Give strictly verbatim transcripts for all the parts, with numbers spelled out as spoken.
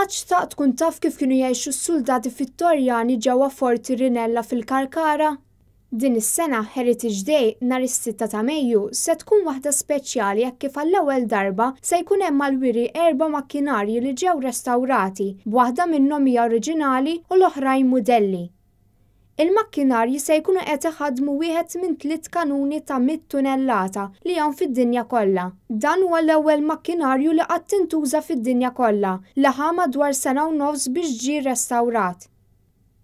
Qatt xtaqt tkun taf kif kienu jgħixu s-suldati Vittorjani ġewwa Forti Rinella fil-Kalkara? Din is-sena Heritage Day nhar is-sitta ta' Mejju se tkun waħda speċjali hekk kif għall-ewwel darba se jkun hemm għall-wiri erba' makkinarji li ġew restawrati, b'waħda minnhom hija oriġinali u l-oħrajn mudelli. Il-makkinarji se jkunu qed iħaddmu wieħed minn tliet kanuni ta' mitt tunellata li hawn fid-dinja kollha. Dan huwa l-ewwel makkinarju li qatt intuża fid-dinja kollha, li ħa madwar sena u nofs biex ġie restawrat.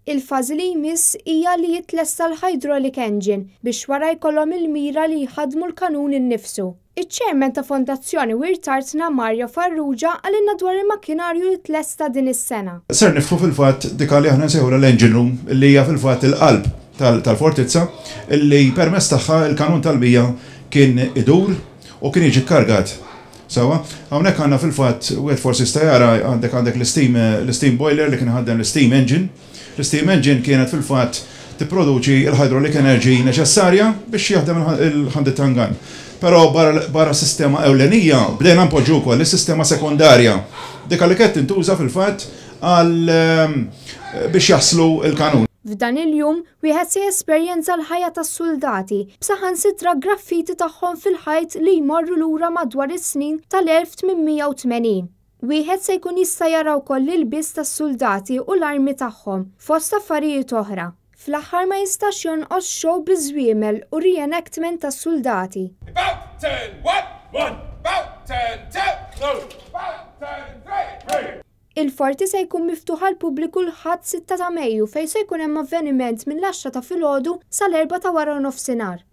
Il-fażi li jmiss hija li jitlesta l-hydraulic engine biex wara jkollhom il-mira li jħaddmu l-kanun innifsu. Iċ-chairman ta' Fondazzjoni Wirt Artna Mario Farrugia qalilna dwar il-makkinarju li tlesta din is-sena. Ser niftħu fil-fatt dik li aħna nsejħu l-engine room, li hija fil-fatt il-qalb tal-fortizza, li permezz tagħha il-kanun tal-mija kien idur u kien jiġi kargat. Sawa, hawnhekk għandna fil-fatt, wieħed forsi jista' jara, għandek għandek l-steam l-steam boiler li kien ħaddem l-steam engine. L-steam engine kienet fil-fatt tipproduċi il-hydraulic energy neċessarja biex jaħdem il-hundred ton gun. Però barra sistema ewlenija bdejna npoġġu wkoll is-sistema sekondarja. Dik li kienet tintuża fil-fatt għal biex jaslu il-kanun. F'dan il-jum wieħed se jesperjenza l-ħajja tas-suldati b'saħansitra graffiti tagħhom fil-ħajt li jmorru lura madwar is-snin tal-elf tmien mija u tmenin. Wieħed se jkun jista' jara wkoll l-ilbies tas-suldati u l-armi tagħhom fost affarijiet oħra. Fl-aħħar ma jistax jonqos show biż-żwiemel u reenactment tas-suldati. About turn one, one, about turn two, two, about turn three, three. Il-forti se jkun miftuħ għall-pubbliku l-Ħadd sitta ta' Mejju fejn se jkun hemm avveniment mill-għaxra ta' filgħodu sal-erbgħa ta' wara nofsinhar.